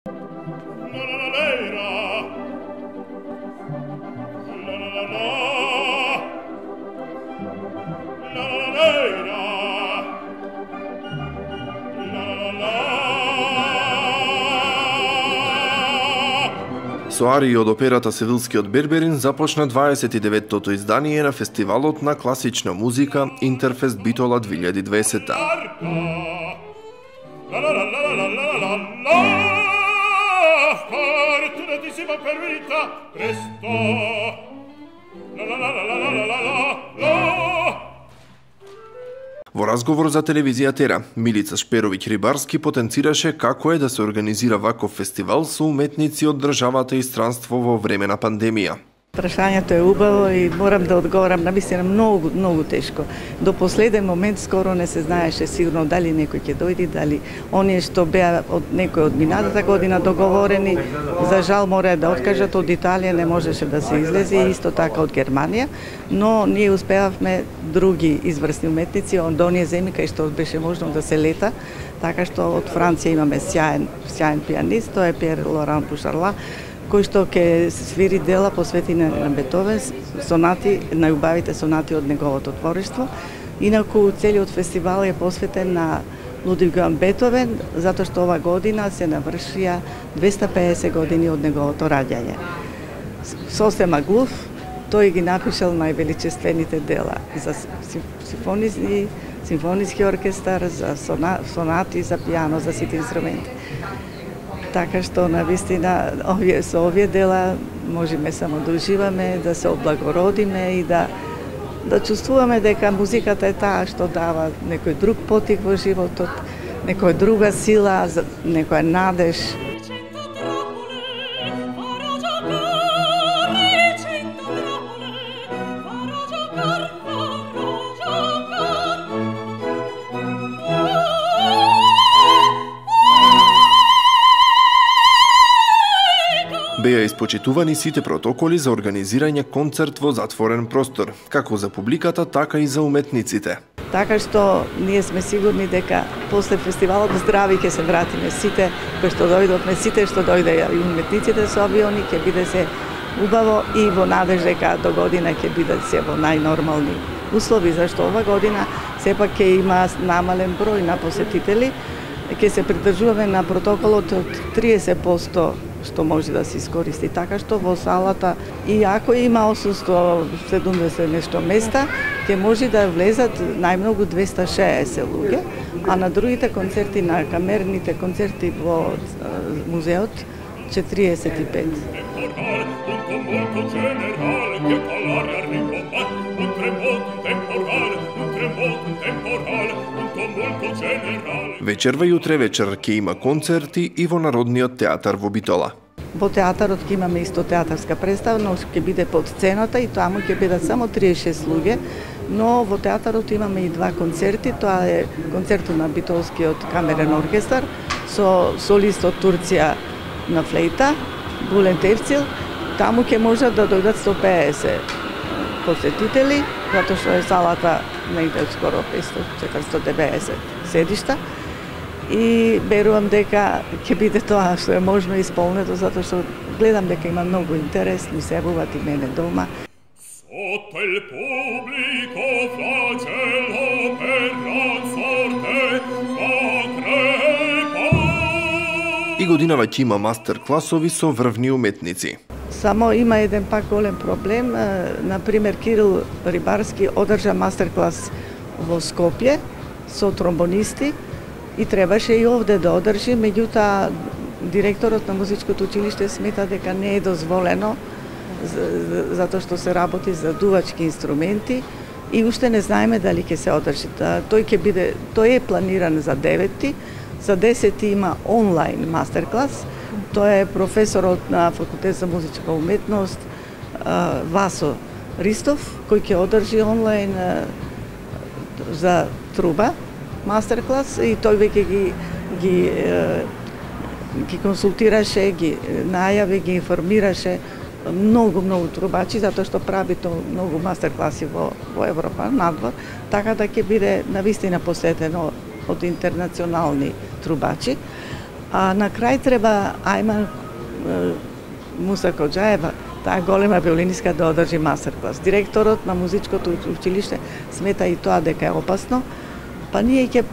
Со арии од операта Севилскиот Берберин започна 29-тото издание на фестивалот на класична музика Интерфест Битола 2020. Во разговор за телевизија Тера, Милица Шперовиќ-Рибарски потенцираше како е да се организира ваков фестивал со уметници од државата и странство во време на пандемија. Прашањето е убаво и морам да одговорам навистина многу тешко. До последен момент скоро не се знаеше сигурно дали некој ќе дојде, дали оние што беа од некој од минатата година договорени, за жал мора да откажат. Од Италија не можеше да се излезе, исто така од Германија, но ние успеавме други изврсни уметници од оние земји кај што беше можно да се лета, така што од Франција имаме сјаен пианист, тоа е Пиер Лоран Пушарла, кој што ќе свири дела посветени на Бетовен, сонати, најубавите сонати од неговото творештво. Инаку целиот фестивал е посветен на Лудвиг ван Бетовен, затоа што ова година се навршија 250 години од неговото раѓање. Сосема глув, тој ги напишал највеличествените дела за симфониски оркестар, за сонати, за пијано, за сите инструменти. Така што навистина со овие дела можеме само да уживаме, да се облагородиме и да чувствуваме дека музиката е таа што дава некој друг потик во животот, некоја друга сила, некоја надеж. Беа испочитувани сите протоколи за организирање концерт во затворен простор, како за публиката, така и за уметниците. Така што ние сме сигурни дека после фестивалот здрави ќе се вратиме сите кои што дојдовме, сите што дојдеа и уметниците со авиони, ќе биде се убаво и во надеж дека до година ќе биде се во најнормални услови, зашто ова година сепак ќе има намален број на посетители, ќе се придржуваме на протоколот од 30% што може да се искористи, така што во салата, и ако има 870 нешто места, ќе може да влезат најмногу 260 луѓе, а на другите концерти, на камерните концерти во музеот, 45. Вечерва и утре вечер ќе има концерти и во Народниот театар во Битола. Во театарот ќе имаме исто театарска представа, но ќе биде под цената и таму ќе бидат само 36 луѓе, но во театарот имаме и два концерти, тоа е концертот на Битолскиот камерен оркестар со солист од Турција на флейта, Булент Евцил. Таму ќе можат да дојдат 150 посетители, затоа што е салата негде скоро 500-490 седишта. И верувам дека ќе биде тоа што е можно исполнето, затоа што гледам дека има многу интерес, ми се јавуваат и мене дома. Sotto il pubblico flagello per la sorte И годинава ќе има мастер-класови со врвни уметници. Само има еден пак голем проблем. Например, Кирил Рибарски одржа мастер-клас во Скопје со тромбонисти и требаше и овде да одржи, меѓутоа директорот на музичкото училиште смета дека не е дозволено затоа што се работи за дувачки инструменти и уште не знаеме дали ќе се одржи. Тој е планиран за 9-ти, за 10-ти има онлайн мастер-клас. Тој е професорот на Факултет за музичка уметност Васо Ристов, кој ќе одржи онлайн за труба мастер-клас и тој веќе ги консултираше, ги најави, ги информираше многу трубачи, затоа што прави многу мастер-класи во Европа, надвор, така да ќе биде навистина посетено од интернационални трубачи. А на крај треба Ајман Муса Коџаева, таа голема виолинистка, да одржи мастер-клас. Директорот на музичкото училиште смета и тоа дека е опасно, па ние ќе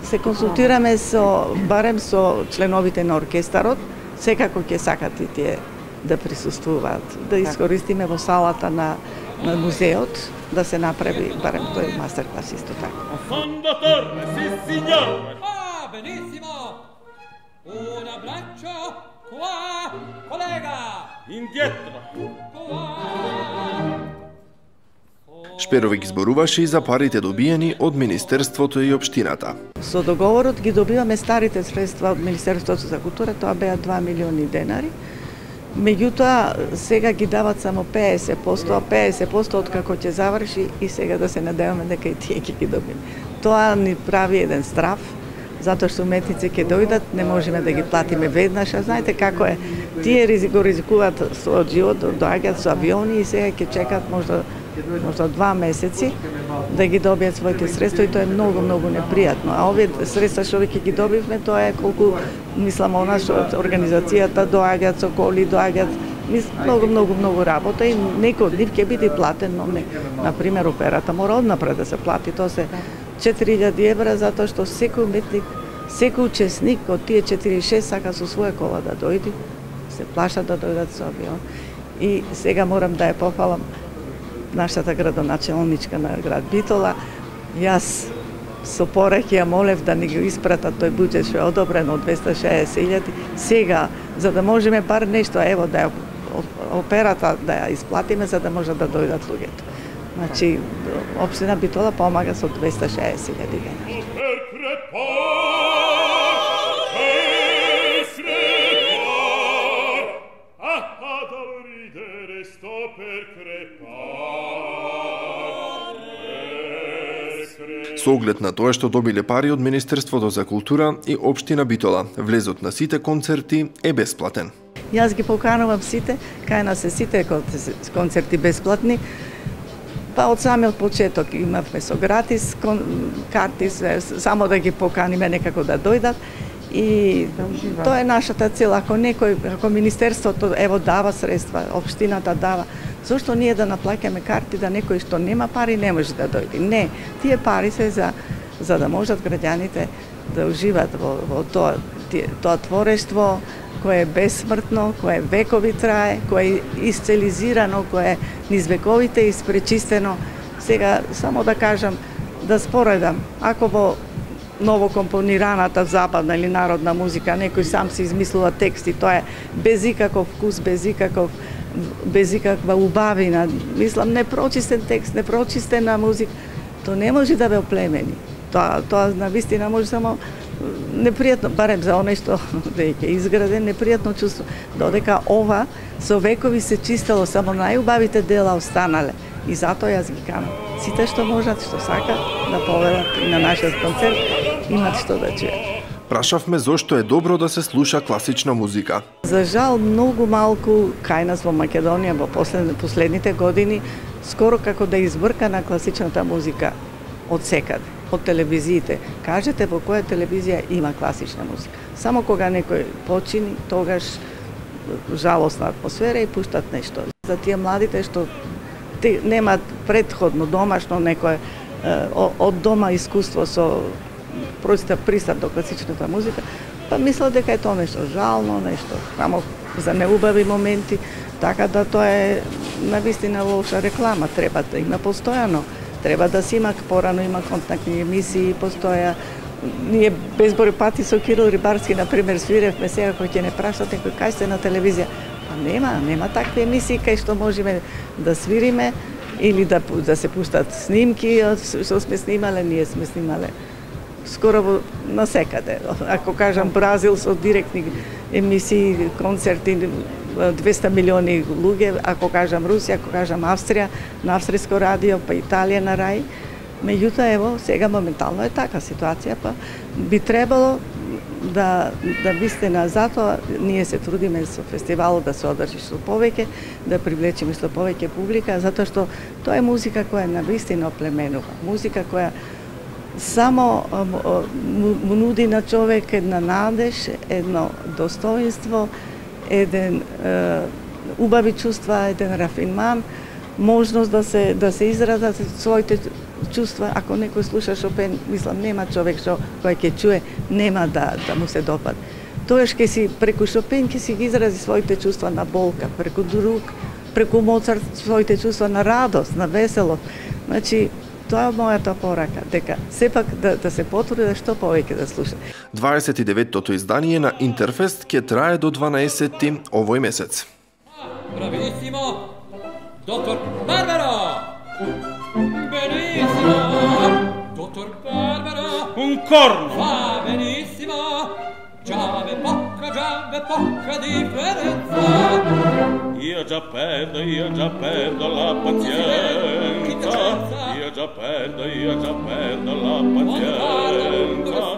се консултираме барем со членовите на оркестарот, секако ќе сакат и тие да присуствуваат, да искористиме во салата на музеот, да се направи барем тој мастер-клас исто така. Fondatore, sì signore! Ah, benissimo! Un abbraccio qua, collega! Indietro! Шперовиќ зборуваше и за парите добиени од Министерството и општината. Со договорот ги добиваме старите средства од Министерството за култура, тоа беа 2 милиони денари. Меѓутоа, сега ги дават само 50%, а 50% откако ќе заврши и сега да се надеваме дека и тие ќе ги добиме. Тоа ни прави еден страв, затоа што уметници ќе дојдат, не можеме да ги платиме веднаш, а знаете како е, тие ризикуваат својот живот, доаѓаат со авиони и сега ќе чекат можда 2 месеци да ги добијат своите средства и тоа е многу непријатно. А овие средства што ќе ги добивме, тоа е колку, мислам, она што организацијата доаѓаат со коли, доаѓаат многу работа и некој од нив ќе биде платен, но не. Например, операта мора однапред да се плати, тоа се 4000 евра, затоа што секој уметник, секој учесник од тие 46 сака со своја кола да дојде, се плаша да дојдат со авион. И сега морам да ја пофалам нашата градоначелничка на град Битола. Јас со пораки ја молев да ни го испратат тој буџет што е одобрен од 260.000. Сега, за да можеме бар нешто, ево, да ја операта да ја исплатиме, за да може да дојдат луѓето. Значи, општина Битола помага со 260.000 денари. Со оглед на тоа што добиле пари од Министерството за култура и општина Битола, влезот на сите концерти е бесплатен. Јас ги поканувам сите, кај нас се сите концерти бесплатни. Па од самиот почеток имавме со гратис карти, само да ги поканиме некако да дојдат. И тоа е нашата цел. Ако Министерството ево дава средства, општината дава, зошто ние да наплаќаме карти да некој што нема пари не може да дојде? Не, тие пари се за да можат граѓаните да уживат во тоа творештво кое е бесмртно, кое векови трае, кое е исцелизирано, кое е низ вековите испречистено. Сега само да кажам, да споредам, ако во новокомпонираната забавна или народна музика некој сам се измислува тексти, тоа е без ikakов вкус, без ikakva убавина, мислам, непрочистен текст, непрочистена музика, тоа не може да ве оплемени. Тоа навистина може само непријатно, барем за оној што веќе изграден, непријатно чувство, додека ова со векови се чистело, само најубавите дела останале. И затоа јас ги канам. Сите што можат, што сакат да повелат и на нашиот концерт, имат што да чујат. Прашавме зошто е добро да се слуша класична музика. За жал, многу малку кај нас во Македонија во последните години скоро како да избркана класичната музика од секаде, од телевизиите. Кажете во која телевизија има класична музика. Само кога некој почини, тогаш жалосна атмосфера и пуштат нешто. За тие младите што немаат претходно домашно некое од дома искуство со пристап до класичната музика, па мислат дека е тоа нешто жално, нешто само за неубави моменти, така да тоа е навистина лоша реклама, треба да има постојано, треба да се има, порано има контактни емисии, постоја. Ние безброј пати со Кирил Рибарски, например, свиревме сега кој ќе не прашат некој кај сте на телевизија. Па нема такви емисии кај што можеме да свириме или да се пуштат снимки што сме снимале, ние сме снимале скоро насекаде. Ако кажам Бразил со директни емисии, концерти, 200 милиони луѓе, ако кажам Русија, ако кажам Австрија, на австриско радио, па Италија на Рај. Меѓутоа, ево, сега моментално е така ситуација, па би требало да вистина, затоа ние се трудиме со фестивалот да се одржи што повеќе, да привлечеме што повеќе публика, затоа што тоа е музика која навистина оплеменува, музика која само му нуди на човек една надеж, едно достоинство, еден убави чувства, еден рафинман, можност да се изразат своите чувства. Ако некој слуша Шопен, мислам, нема човек кој ќе чуе, нема да му се допад. Тоаш ќе си преку Шопен ќе си ги изрази своите чувства на болка, преку друг, преку Моцарт своите чувства на радост, на веселост. Значи, тоа е мојата порака, дека сепак да се потруди да што повеќе да слуша. 29-тото издание на Интерфест ќе трае до 12-ти овој месец. Bravissimo! Dottor Barbaro! Benissimo! Dottor Barbaro! Un corno! Va benissimo! Già ve poca differenza! Io già perdo la pazienza! Io già perdo la pazienza!